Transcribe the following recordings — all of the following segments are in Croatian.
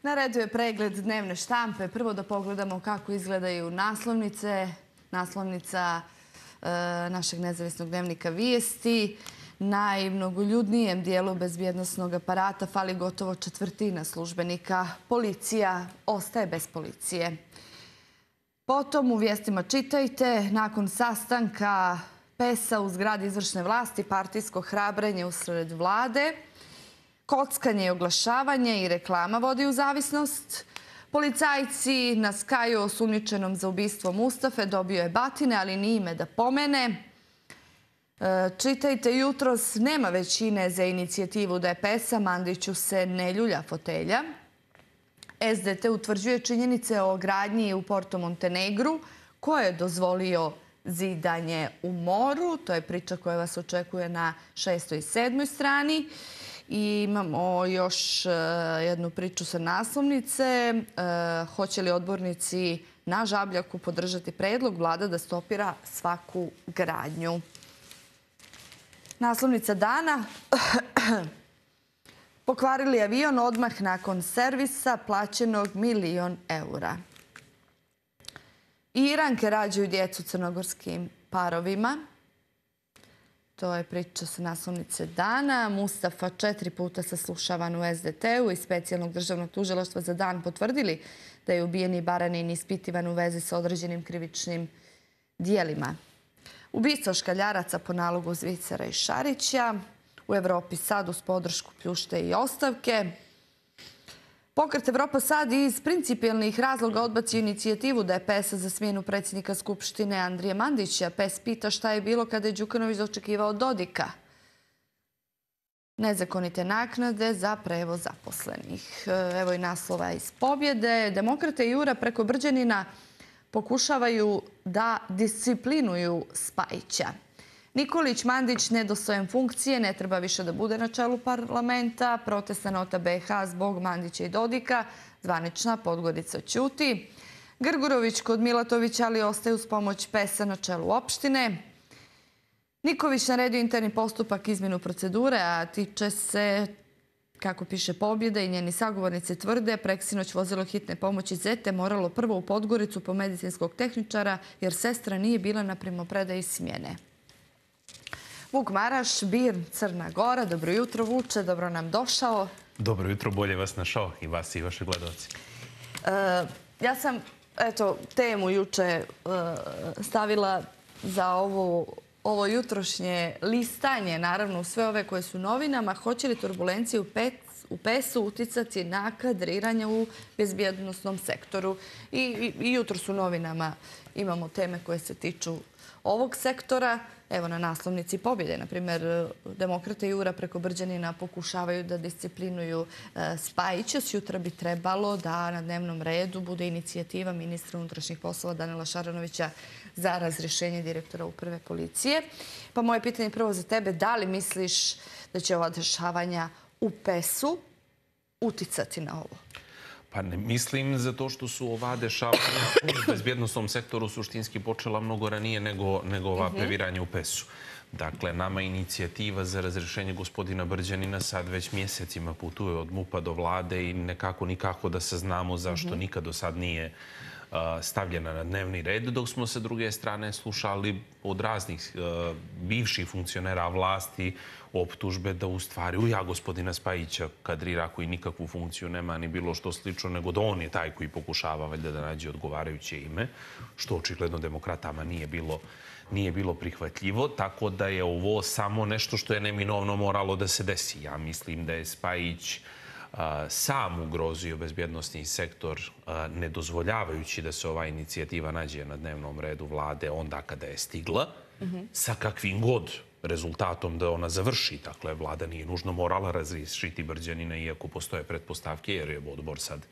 Na redu je pregled dnevne štampe. Prvo da pogledamo kako izgledaju naslovnice. Naslovnica našeg nezavisnog dnevnika Vijesti. Najmnogoljudnijem dijelu bezbjednosnog aparata fali gotovo četvrtina službenika. Policija ostaje bez policije. Potom u vijestima čitajte, nakon sastanka PES-a u zgradi izvršne vlasti, partijsko hrabrenje usred vlade, kockanje i oglašavanje i reklama vodi u zavisnost. Policajci na Skaju osumnjičenom za ubistvo Mustafe dobio je batine, ali ni ime da pomene. Čitajte jutros, nema većine za inicijativu DPS-a, Mandiću se ne ljulja fotelja. SDT utvrđuje činjenice o gradnji u Porto Montenegru, ko je dozvolio zidanje u moru. To je priča koja vas očekuje na 6. i 7. strani. I imamo još jednu priču sa naslovnice. Hoće li odbornici na Žabljaku podržati predlog vlada da stopira svaku gradnju? Naslovnica dana. Pokvarili avion odmah nakon servisa plaćenog €1.000.000. Iranke rađaju djecu crnogorskim parovima. To je priča sa naslovnice dana. Mustafa 4 puta saslušavan u SDT-u i specijalnog državnog tužilaštva za dan potvrdili da je ubijeni Baranin ispitivan u vezi sa određenim krivičnim dijelima. Ubistvo škaljaraca po nalogu Zvicera i Šarića. U Evropi sad uz podršku pljušte i ostavke. Pokret Evropa sad iz principijelnih razloga odbacio inicijativu DPS-a za smjenu predsjednika Skupštine Andrije Mandića. PES pita šta je bilo kada je Đukanović dočekivao Dodika. Nezakonite naknade za prevoz zaposlenih. Evo i naslova iz Pobjede. Demokrate i Jura preko Brđanina pokušavaju da disciplinuju Spajića. Nikolić Mandić nedostojan funkcije, ne treba više da bude na čelu parlamenta. Protestna nota BiH zbog Mandića i Dodika. Zvanična Podgorica ćuti. Grgurović kod Milatovića, ali ostaje uz pomoć PES-a na čelu opštine. Niković naredio interni postupak izmjenu procedure, a tiče se, kako piše Pobjeda i njeni sagovornici tvrde, preksinoć vozilo hitne pomoći Zete moralo prvo u Podgoricu po medicinskog tehničara jer sestra nije bila na primopredaji smjene. Vuk Maraš, BIRN, Crna Gora. Dobro jutro, Vuče, dobro nam došao. Dobro jutro, bolje vas našao i vas i vaše gledalci. Ja sam temu juče stavila za ovo jutrošnje listanje, naravno u sve ove koje su novinama. Hoće li turbulencije u PES-u uticati na kadriranje u bezbjednosnom sektoru? I jutro su novinama imamo teme koje se tiču ovog sektora. Evo na naslovnici Pobjede, na primjer, Demokrate i Jura preko Brđanina pokušavaju da disciplinuju Spajića. Sjutra bi trebalo da na dnevnom redu bude inicijativa ministra unutrašnjih poslova Danila Šaranovića za razrješenje direktora uprave policije. Pa moje pitanje prvo za tebe, da li misliš da će ova dešavanja u PES-u uticati na ovo? Pa ne mislim zato što su ova dešavanja u bezbjednostnom sektoru suštinski počela mnogo ranije nego ova previranja u PES-u. Dakle, nama inicijativa za razrješenje gospodina Brđanina sad već mjesecima putuje od MUP-a do vlade i nikako da saznamo zašto nikad do sad nije stavljena na dnevni red, dok smo sa druge strane slušali od raznih bivših funkcionera vlasti optužbe da u stvari gospodina Spajića kadrira koji nikakvu funkciju nema ni bilo što slično, nego da on je taj koji pokušava valjda da nađe odgovarajuće ime, što očigledno demokratama nije bilo prihvatljivo, tako da je ovo samo nešto što je neminovno moralo da se desi. Ja mislim da je Spajić sam ugrozio bezbjednosni sektor ne dozvoljavajući da se ova inicijativa nađe na dnevnom redu vlade onda kada je stigla, sa kakvim god rezultatom da ona završi. Dakle, vlada nije nužno morala razriješiti Brđanina, iako postoje pretpostavke, jer je odbor sad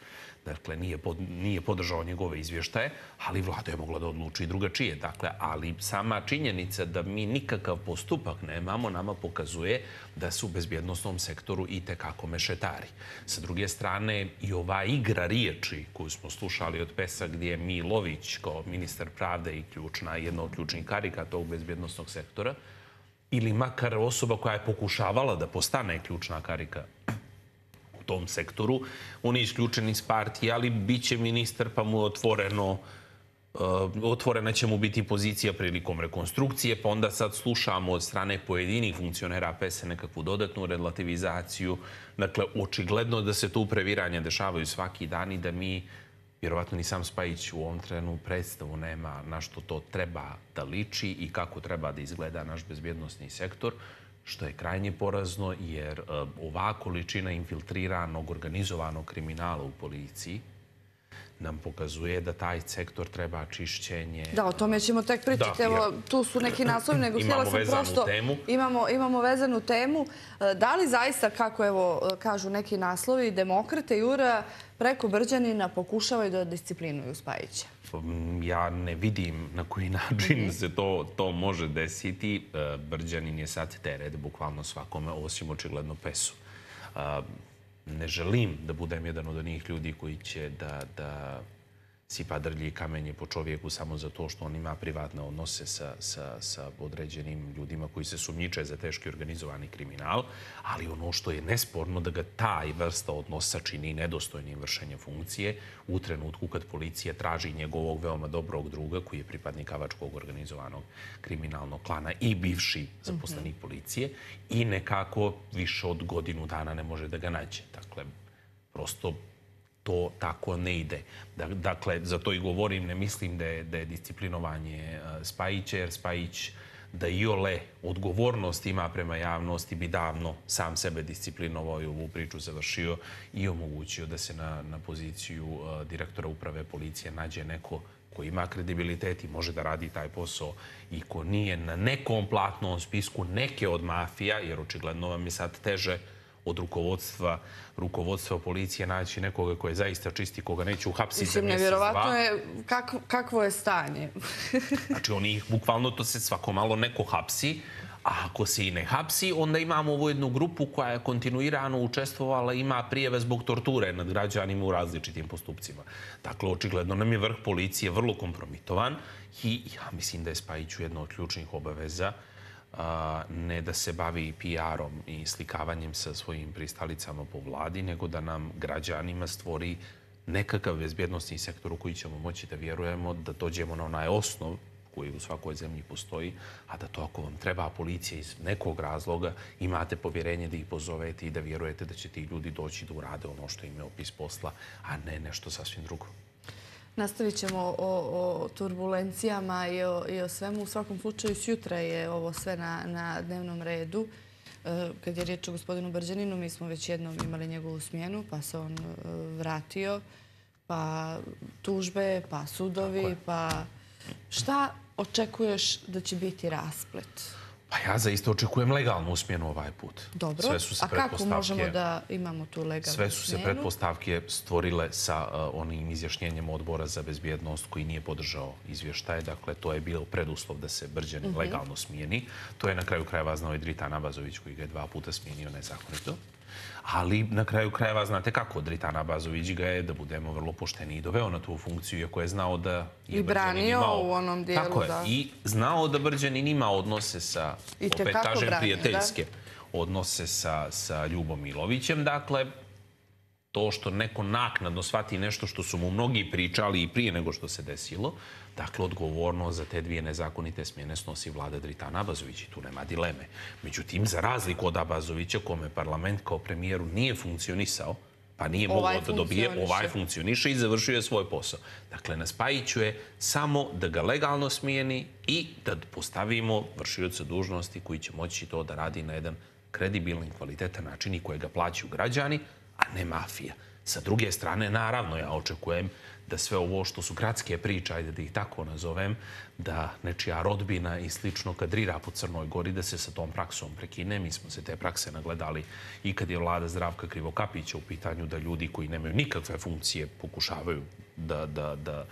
nije podržao njegove izvještaje, ali vlada je mogla da odluči drugačije. Dakle, ali sama činjenica da mi nikakav postupak nemamo nama pokazuje da su u bezbjednostnom sektoru i tekako mešetari. Sa druge strane, i ova igra riječi koju smo slušali od PES-a gdje je Milović kao ministar pravde i jedna od ključnih karika tog bezbjednostnog sektora, ili makar osoba koja je pokušavala da postane ključna karika tom sektoru. On je isključen iz partije, ali bit će ministar, pa mu je otvorena će mu biti pozicija prilikom rekonstrukcije, pa onda sad slušamo od strane pojedinih funkcionera PES-a nekakvu dodatnu relativizaciju. Dakle, očigledno da se tu previranja dešavaju svaki dan i da mi, vjerovatno ni sam Spajić u ovom trenu predstavu nema na što to treba da liči i kako treba da izgleda naš bezbjednosni sektor, što je krajnje porazno jer ova količina infiltriranog, organizovanog kriminala u policiji nam pokazuje da taj sektor treba čišćenje. Da, o tome ćemo tek pričati. Evo, tu su neki naslovi, nego htjela sam prosto... Imamo vezanu temu. Da li zaista, kako evo kažu neki naslovi, Demokrate i Jura preko Brđanina pokušavaju da disciplinuju Spajića? Ja ne vidim na koji način se to može desiti. Brđanin je sad teret bukvalno svakome, osim očigledno PES-u. Ne želim da budem jedan od onih ljudi koji će da sipa drlje i kamenje po čovjeku samo zato što on ima privatne odnose sa određenim ljudima koji se sumnjiče za teški organizovani kriminal, ali ono što je nesporno da ga taj vrsta odnosa čini nedostojnim vršenjem funkcije u trenutku kad policija traži njegovog veoma dobrog druga koji je pripadnik avačkog organizovanog kriminalnog klana i bivši zaposlenik policije i nekako više od godinu dana ne može da ga nađe. Dakle, prosto to tako ne ide. Dakle, za to i govorim, ne mislim da je disciplinovanje Spajića, jer Spajić da iole odgovornost ima prema javnosti bi davno sam sebe disciplinovao i ovu priču završio i omogućio da se na poziciju direktora uprave policije nađe neko ko ima kredibilitet i može da radi taj posao i ko nije na nekom platnom spisku neke od mafija, jer očigledno vam je sad teže od rukovodstva policije naći nekoga koje zaista čisti, koga neće uhapsiti za mjesec, dva. Nevjerovatno je kakvo je stanje. Znači, oni bukvalno to se svako malo neko hapsi, a ako se i ne hapsi, onda imamo ovu jednu grupu koja je kontinuirano učestvovala, ima prijeve zbog torture nad građanima u različitim postupcima. Dakle, očigledno nam je vrh policije vrlo kompromitovan i ja mislim da je Spajiću jedna od ključnih obaveza ne da se bavi PR-om i slikavanjem sa svojim pristalicama po vladi, nego da nam građanima stvori nekakav bezbjednostni sektor u koji ćemo moći da vjerujemo, da dođemo na onaj osnov koji u svakoj zemlji postoji, a da to ako vam treba policija iz nekog razloga, imate povjerenje da ih pozovete i da vjerujete da će ti ljudi doći da urade ono što im je opis posla, a ne nešto sasvim drugo. Nastavit ćemo o turbulencijama i o svemu. U svakom slučaju, sjutra je ovo sve na dnevnom redu. Kad je riječ o gospodinu Brđaninu, mi smo već jednom imali njegovu smjenu, pa se on vratio, pa tužbe, pa sudovi, pa šta očekuješ da će biti rasplet? Pa ja zaista očekujem legalnu smjenu ovaj put. Dobro, a kako možemo da imamo tu legalnu smjenu? Sve su se pretpostavke stvorile sa onim izjašnjenjem odbora za bezbjednost koji nije podržao izvještaje. Dakle, to je bilo preduslov da se Brđanin legalno smijeni. To je na kraju krajeva znao i Dritan Abazović koji ga je 2 puta smijenio nezakonito. Ali na kraju krajeva znate kako Dritan Abazović ga je, da budemo vrlo pošteni, i doveo na tu funkciju, iako je znao da je Brđanin imao... I branio u onom dijelu, tako je, da. I znao da Brđanin ima odnose sa, opet kažem, prijateljske odnose sa Ljubom Milovićem. Dakle, to što neko naknadno shvati nešto što su mu mnogi pričali i prije nego što se desilo, dakle, odgovorno za te 2 nezakonite smjene snosi vlada Dritana Abazovića i tu nema dileme. Međutim, za razliku od Abazovića, kome parlament kao premijeru nije funkcionisao, pa nije mogao da dobije, ovaj funkcioniše i završio je svoj posao. Dakle, na Spajiću je samo da ga legalno smijeni i da postavimo vršioca dužnosti koji će moći to da radi na jedan kredibilni, kvalitetan način i kojega plaćaju građani, a ne mafija. Sa druge strane, naravno, ja očekujem da sve ovo što su gradske priče, ajde da ih tako nazovem, da nečija rodbina i slično kadrira po Crnoj Gori, da se sa tom praksom prekine. Mi smo se te prakse nagledali i kad je vlada Zdravka Krivokapića u pitanju da ljudi koji nemaju nikakve funkcije pokušavaju da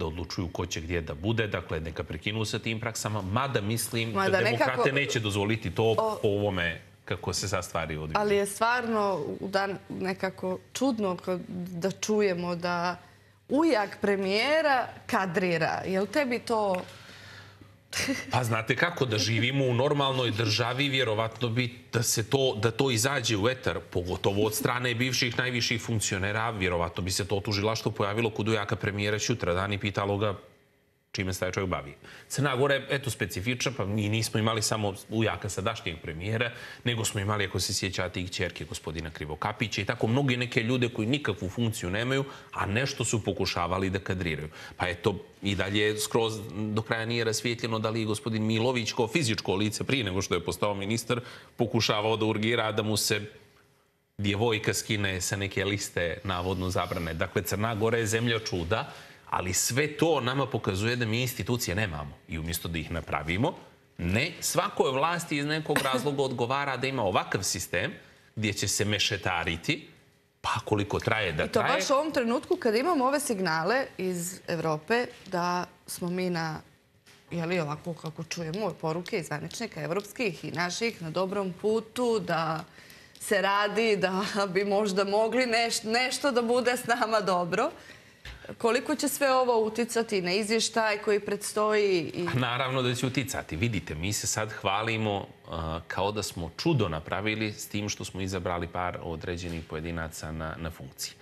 odlučuju ko će gdje da bude. Dakle, neka prekinu sa tim praksama, mada mislim da demokrate neće dozvoliti to po ovome kako se sad stvari odvijaju. Ali je stvarno nekako čudno da čujemo da ujak premijera kadrira. Je li tebi to Pa znate kako, da živimo u normalnoj državi, vjerovatno bi da to izađe u etar, pogotovo od strane bivših najviših funkcionera, vjerovatno bi se to tužilaštvo pojavilo kod ujaka premijera sutradan i pitalo ga čime se taj čovjek bavi. Crna Gora je, eto, specifična, pa mi nismo imali samo ujaka sadašnjeg premijera, nego smo imali, ako se sjećate, i kćerke gospodina Krivokapića i tako mnogi neke ljude koji nikakvu funkciju nemaju, a nešto su pokušavali da kadriraju. Pa eto, i dalje skroz do kraja nije rasvijetljeno da li je gospodin Milović kao fizičko lice prije nego što je postao ministar pokušavao da urgira da mu se djevojka skine sa neke liste navodno zabrane. Dakle, Crna Gora je zemlja čuda, ali sve to nama pokazuje da mi institucije nemamo. I umjesto da ih napravimo, ne, svakoj vlasti iz nekog razloga odgovara da ima ovakav sistem gdje će se mešetariti, pa koliko traje da traje. I to baš u ovom trenutku kad imamo ove signale iz Evrope da smo mi na, jeli ovako kako čujemo, poruke iz zvaničnika evropskih i naših na dobrom putu, da se radi, da bi možda mogli nešto da bude s nama dobro. Koliko će sve ovo uticati na izvještaj koji predstoji? Naravno da će uticati. Vidite, mi se sad hvalimo kao da smo čudo napravili s tim što smo izabrali par određenih pojedinaca na funkciji.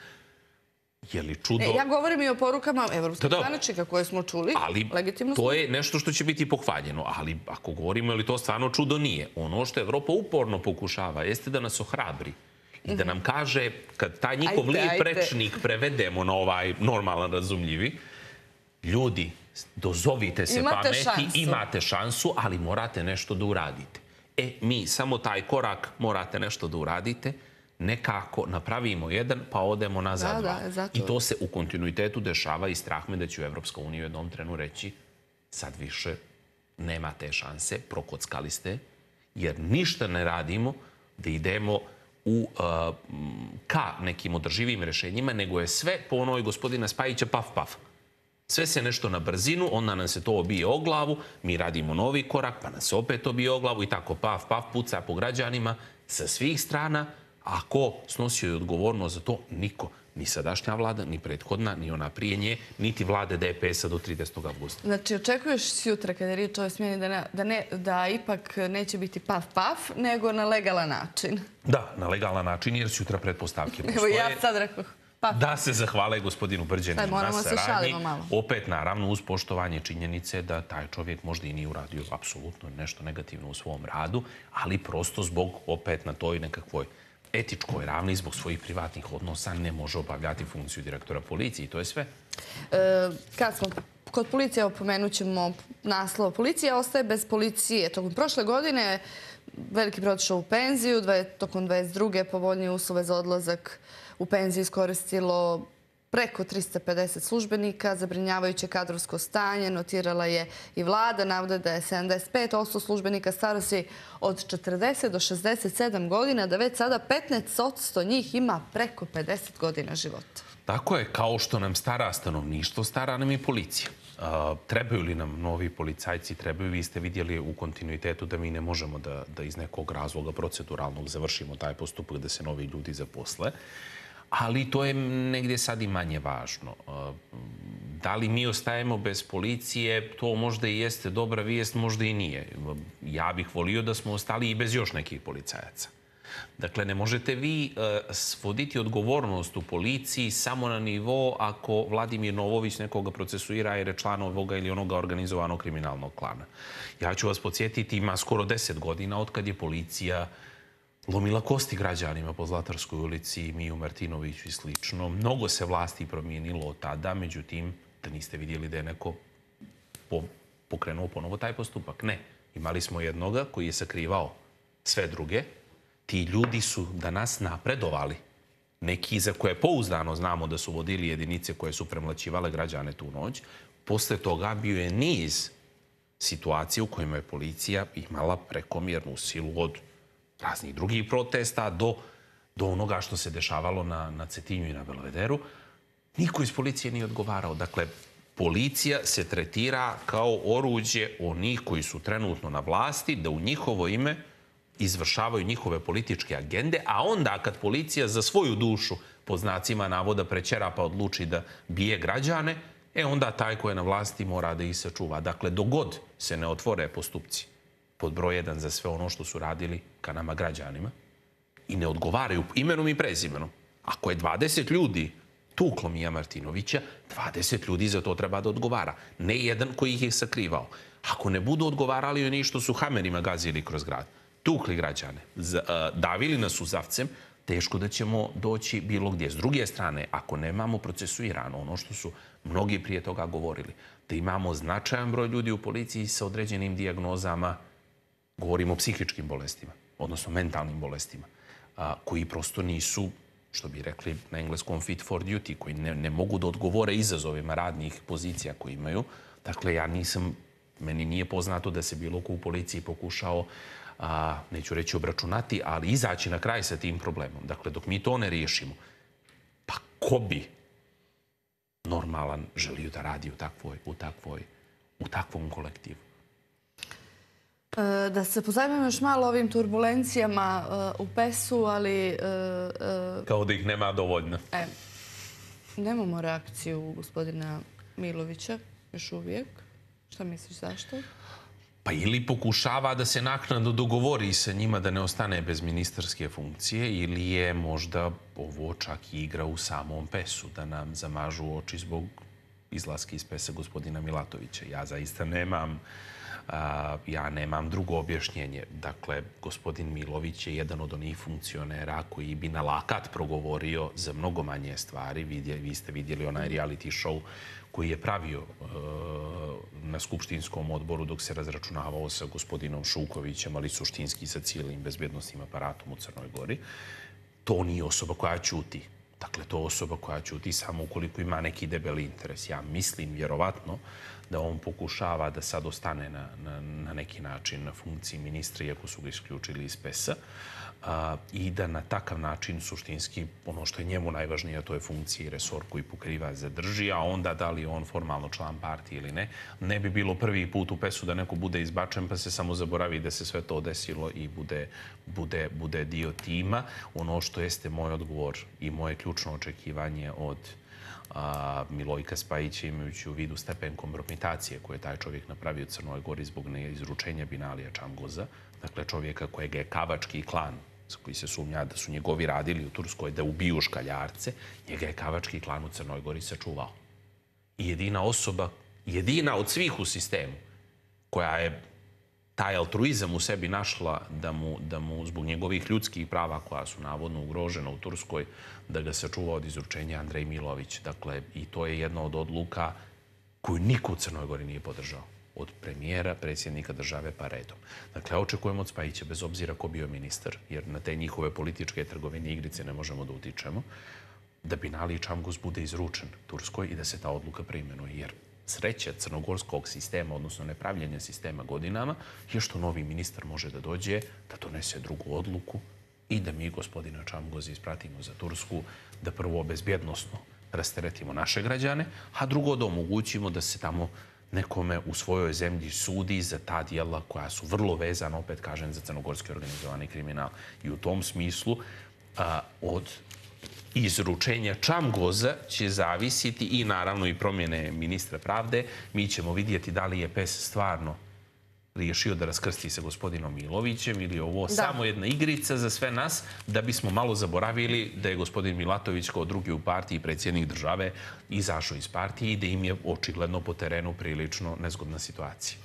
Je li čudo? Ja govorim i o porukama evropskih zvaničnika koje smo čuli. Ali to je nešto što će biti pohvaljeno. Ali ako govorimo, je li to stvarno čudo, nije. Ono što Evropa uporno pokušava jeste da nas ohrabri. I da nam kaže, kad taj njihov lijep rečnik prevedemo na ovaj normalan, razumljivi, ljudi, dozovite se pameti, imate šansu, ali morate nešto da uradite. Mi samo taj korak morate nešto da uradite, nekako napravimo jedan, pa odemo nazad dva. I to se u kontinuitetu dešava i strah me da će u Evropska unija u jednom trenu reći sad više nema te šanse, prokockali ste, jer ništa ne radimo da idemo ka nekim održivim rešenjima, nego je sve po onoj gospodina Spajića paf, paf. Sve se nešto na brzinu, onda nam se to obije o glavu, mi radimo novi korak, pa nas se opet obije o glavu i tako paf, paf, puca po građanima sa svih strana. A ko snosio je odgovornost za to? Niko. Ni sadašnja vlada, ni prethodna, ni ona prije nje, niti vlade DPS-a do 30. avgusta. Znači, očekuješ sutra kada je riječ o ovoj smjeni da ipak neće biti paf, paf, nego na legalan način? Da, na legalan način, jer sutra pretpostavke postoje. Evo ja sad rekao paf. Da se zahvale gospodinu Brđaninu na saradnji. Malo. Opet, naravno, uz poštovanje činjenice da taj čovjek možda i nije uradio apsolutno nešto negativno u svom radu, ali prosto zbog, opet na toj nekakvoj etičkoj ravni, zbog svojih privatnih odnosa ne može obavljati funkciju direktora policije i to je sve. Kad smo kod policije, opomenut ćemo naslov. Policija ostaje bez policije. Tokom prošle godine veliki broj otišao u penziju, tokom 22. povoljnije uslove za odlazak u penziju iskoristilo preko 350 službenika. Zabrinjavajuće kadrovsko stanje notirala je i vlada. Navode da je 75% službenika starosti od 40 do 67 godina, da već sada 15% njih ima preko 50 godina života. Tako je, kao što nam stara stanovništvo, stara nam i policija. Trebaju li nam novi policajci? Trebaju. Vi ste vidjeli u kontinuitetu da mi ne možemo da iz nekog razloga proceduralnog završimo taj postupak da se novi ljudi zaposle. Ali to je negdje sad i manje važno. Da li mi ostajemo bez policije, to možda i jeste dobra vijest, možda i nije. Ja bih volio da smo ostali i bez još nekih policajaca. Dakle, ne možete vi svoditi odgovornost u policiji samo na nivo ako Vladimir Novović nekoga procesuira jer je član ovoga ili onoga organizovanog kriminalnog klana. Ja ću vas podsjetiti, ima skoro 10 godina od kad je policija lomila kosti građanima po Zlatarskoj ulici, Miju Martinoviću i slično. Mnogo se vlasti promijenilo od tada, međutim, da niste vidjeli da je neko pokrenuo ponovo taj postupak. Ne. Imali smo jednoga koji je sakrivao sve druge. Ti ljudi su danas napredovali. Neki za koje pouzdano znamo da su vodili jedinice koje su premlaćivale građane tu noć. Posle toga bio je niz situacija u kojima je policija imala prekomjernu silu od raznih drugih protesta do onoga što se dešavalo na Cetinju i na Belvederu. Niko iz policije nije odgovarao. Dakle, policija se tretira kao oruđe onih koji su trenutno na vlasti, da u njihovo ime izvršavaju njihove političke agende, a onda kad policija za svoju dušu, po znacima navoda, prećera pa odluči da bije građane, onda taj ko je na vlasti mora da ih sačuva. Dakle, dogod se ne otvore postupci pod broj 1 za sve ono što su radili ka nama građanima i ne odgovaraju imenom i prezimenom. Ako je 20 ljudi tuklo Mija Martinovića, 20 ljudi za to treba da odgovara. Ne jedan koji ih je sakrivao. Ako ne budu odgovarali oni što su hamerima gazili kroz grad, tukli građane, davili nas uzavcem, teško da ćemo doći bilo gdje. S druge strane, ako nemamo procesuirano ono što su mnogi prije toga govorili, da imamo značajan broj ljudi u policiji sa određenim dijagnozama, govorimo o psihičkim bolestima, odnosno mentalnim bolestima, koji prosto nisu, što bi rekli na engleskom, fit for duty, koji ne mogu da odgovore izazovima radnih pozicija koje imaju. Dakle, meni nije poznato da se bilo ko u policiji pokušao, neću reći obračunati, ali izaći na kraj sa tim problemom. Dakle, dok mi to ne riješimo, pa ko bi normalan želio da radi u takvom kolektivu? Da se pozabavimo još malo ovim turbulencijama u PES-u, ali... Kao da ih nema dovoljno. Nemamo reakciju gospodina Milovića još uvijek. Šta misliš, zašto? Pa ili pokušava da se naknadno dogovori sa njima da ne ostane bez ministarske funkcije, ili je možda ovo čak i igra u samom PES-u, da nam zamažu oči zbog izlaska iz PES-a gospodina Milatovića. Ja zaista nemam drugo objašnjenje. Dakle, gospodin Milović je jedan od onih funkcionera koji bi na lakat progovorio za mnogo manje stvari. Vi ste vidjeli onaj reality show koji je pravio na skupštinskom odboru dok se razračunavao sa gospodinom Šukovićem, ali suštinski sa cijelim bezbjednostnim aparatom u Crnoj Gori. To nije osoba koja ćuti. Dakle, to je osoba koja ćuti samo ukoliko ima neki debeli interes. Ja mislim, vjerovatno, da on pokušava da sad ostane na neki način na funkciji ministra, iako su ga isključili iz PES-a, i da na takav način suštinski ono što je njemu najvažnije, a to je funkcija i resor koji pokriva, zadrži, a onda da li je on formalno član partije ili ne, ne bi bilo prvi put u PES-u da neko bude izbačen pa se samo zaboravi da se sve to desilo i bude dio tima. Ono što jeste moj odgovor i moje ključno očekivanje od Milojka Spajića, imajući u vidu stepen kompromitacije koje je taj čovjek napravio u Crnoj Gori zbog neizručenja Binalija Čamgoza, dakle čovjeka kojeg je Kavački klan, koji se sumnja da su njegovi radili u Turskoj da ubiju škaljarce, njega je Kavački klan u Crnoj Gori sačuvao. I jedina od svih u sistemu koja je taj altruizam u sebi našla da mu zbog njegovih ljudskih prava koja su navodno ugrožena u Turskoj, da ga sačuva od izručenja Andrej Milović. Dakle, i to je jedna od odluka koju niko u Crnoj Gori nije podržao. Od premijera, predsjednika države pa redom. Dakle, očekujemo od Spajića, bez obzira ko bio ministar, jer na te njihove političke trgovine igrice ne možemo da utičemo, da Binali Čamgoz bude izručen Turskoj i da se ta odluka preimenuje. Jer sreća crnogorskog sistema, odnosno nepravljanja sistema godinama, je što novi ministar može da dođe, da donese drugu odluku i da mi gospodina Čamgoza ispratimo za Tursku, da prvo bezbjednosno rasteretimo naše građane, a drugo da omogućimo da se tamo nekome u svojoj zemlji sudi za ta dijela koja su vrlo vezana, opet kažem, za crnogorski organizovani kriminal. I u tom smislu od izručenja Čamgoza će zavisiti i naravno i promjene ministra pravde. Mi ćemo vidjeti da li je PES stvarno riješio da raskrsti sa gospodinom Milovićem ili ovo samo jedna igrica za sve nas, da bismo malo zaboravili da je gospodin Milatović kao drugi u partiji, predsjednik države, izašao iz partije i da im je očigledno po terenu prilično nezgodna situacija.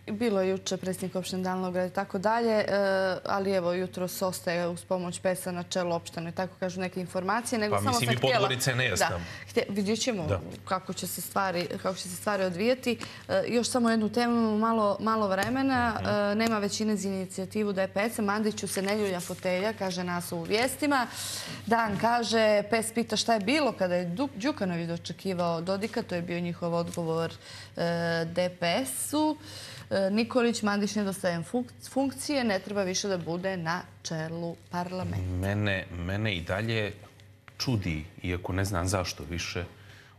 Bilo je juče predsjednik opštine Danilograd i tako dalje, ali evo jutros ostaje uz pomoć PES-a na čelu opštine, tako kažu neke informacije. Pa mislim i Podgorica je nejasna. Vidjet ćemo kako će se stvari odvijeti. Još samo jednu temu, malo vremena. Nema većine za inicijativu DPS-a. Mandiću se ne ljulja fotelja, kaže nas u vijestima. Dan kaže, PES pita šta je bilo kada je Đukanović dočekivao Dodika. To je bio njihov odgovor DPS-u. Nikolić, Mandić nedostaje funkcije, ne treba više da bude na čelu parlamenta. Mene i dalje čudi, iako ne znam zašto više,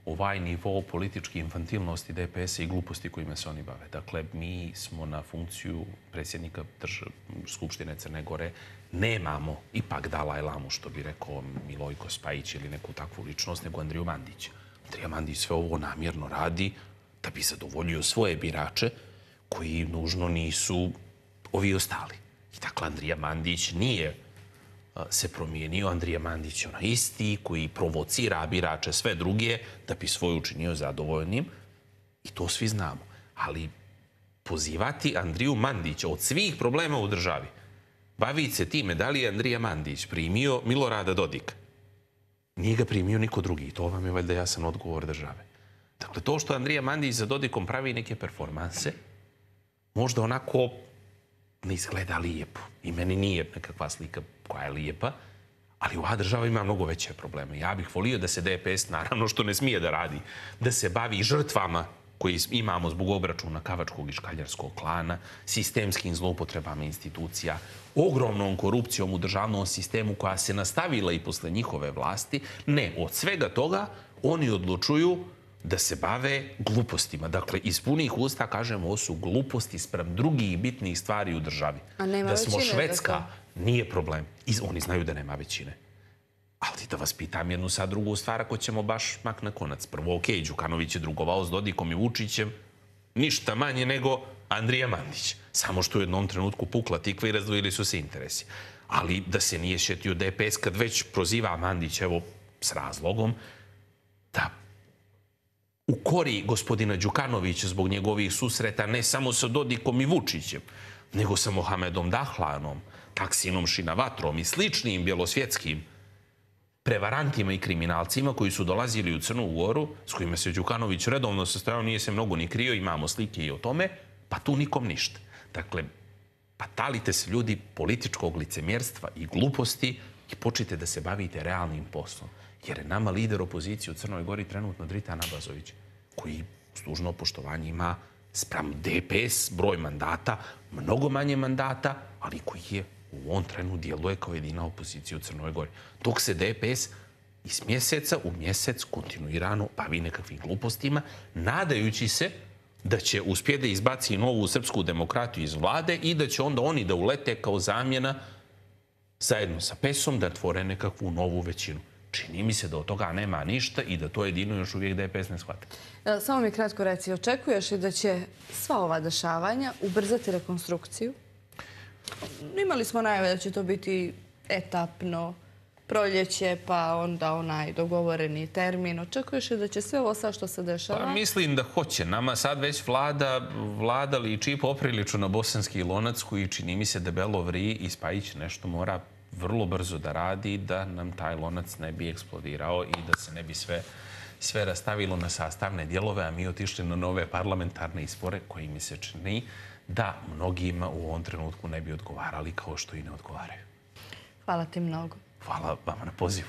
ovaj nivo političke infantilnosti DPS-a i gluposti kojima se oni bave. Dakle, mi smo na funkciju predsjednika Skupštine Crne Gore, nemamo ipak Dalaj Lamu, što bi rekao Milojko Spajić ili neku takvu ličnost, nego Andriju Mandića. Andrija Mandić sve ovo namjerno radi da bi zadovoljio svoje birače koji nužno nisu ovi ostali. I dakle, Andrija Mandić nije se promijenio. Andrija Mandić je onaj isti koji provocira birače sve druge da bi svoj učinio zadovoljnim. I to svi znamo. Ali pozivati Andriju Mandića od svih problema u državi, baviti se time da li je Andrija Mandić primio Milorada Dodika, nije ga primio niko drugi. To vam je valjda jasan odgovor države. Dakle, to što Andrija Mandić za Dodikom pravi neke performanse, možda onako ne izgleda lijepo. I meni nije nekakva slika koja je lijepa, ali ova država ima mnogo veće probleme. Ja bih volio da se DPS, naravno što ne smije da radi, da se bavi žrtvama koji imamo zbog obračuna Kavačkog i Škaljarskog klana, sistemskim zloupotrebama institucija, ogromnom korupcijom u državnom sistemu koja se nastavila i posle njihove vlasti. Ne, od svega toga oni odlučuju da se bave glupostima. Dakle, iz punih usta kažemo ovo su gluposti sprem drugih bitnih stvari u državi. Da smo Švedska, nije problem. Oni znaju da nema većine. Ali da vas pitam jednu sad drugu stvar, ako ćemo baš mak na konac. Prvo, okej, Đukanović je drugovao s Dodikom i Vučićem, ništa manje nego Andrija Mandić. Samo što u jednom trenutku pukla tikva i razdvojili su se interesi. Ali da se nije šetio DPS kad već proziva Mandić, evo, s razlogom, da ukori gospodina Đukanovića zbog njegovih susreta ne samo sa Dodikom i Vučićem, nego sa Mohamedom Dahlanom, Taksinom Šinavatrom i sličnim bjelosvjetskim prevarantima i kriminalcima koji su dolazili u Crnu Goru, s kojima se Đukanović redovno sastojao, nije se mnogo ni krio, imamo slike i o tome, pa tu nikom ništa. Dakle, pa talite se ljudi političkog licemjerstva i gluposti i počnite da se bavite realnim poslom. Jer je nama lider opozicije u Crnoj Gori trenutno Dritan Abazović, koji s dužno poštovanje ima spram DPS broj mandata, mnogo manje mandata, ali koji je u ovom trenu djeluje kao jedina opozicija u Crnoj Gori. Dok se DPS iz mjeseca u mjesec kontinuirano bavi nekakvim glupostima, nadajući se da će uspjeti da izbaci novu srpsku demokratiju iz vlade i da će onda oni da ulete kao zamjena zajedno sa PES-om da tvore nekakvu novu većinu. Čini mi se da od toga nema ništa i da to jedino još uvijek DPS ne shvata. Samo mi kratko reci, očekuješ li da će sva ova dešavanja ubrzati rekonstrukciju? Imali smo najave da će to biti etapno, proljeće, pa onda onaj dogovoreni termin. Očekuješ li da će sve ovo sad što se dešava? Pa mislim da hoće. Nama sad već vlada liči poprilično na bosanski lonac koji čini mi se debelo vri i Spajić nešto mora vrlo brzo da radi da nam taj lonac ne bi eksplodirao i da se ne bi sve rastavilo na sastavne dijelove, a mi otišli na nove parlamentarne izbore koji mi se čini da mnogima u ovom trenutku ne bi odgovarali kao što i ne odgovaraju. Hvala ti mnogo. Hvala vama na pozivu.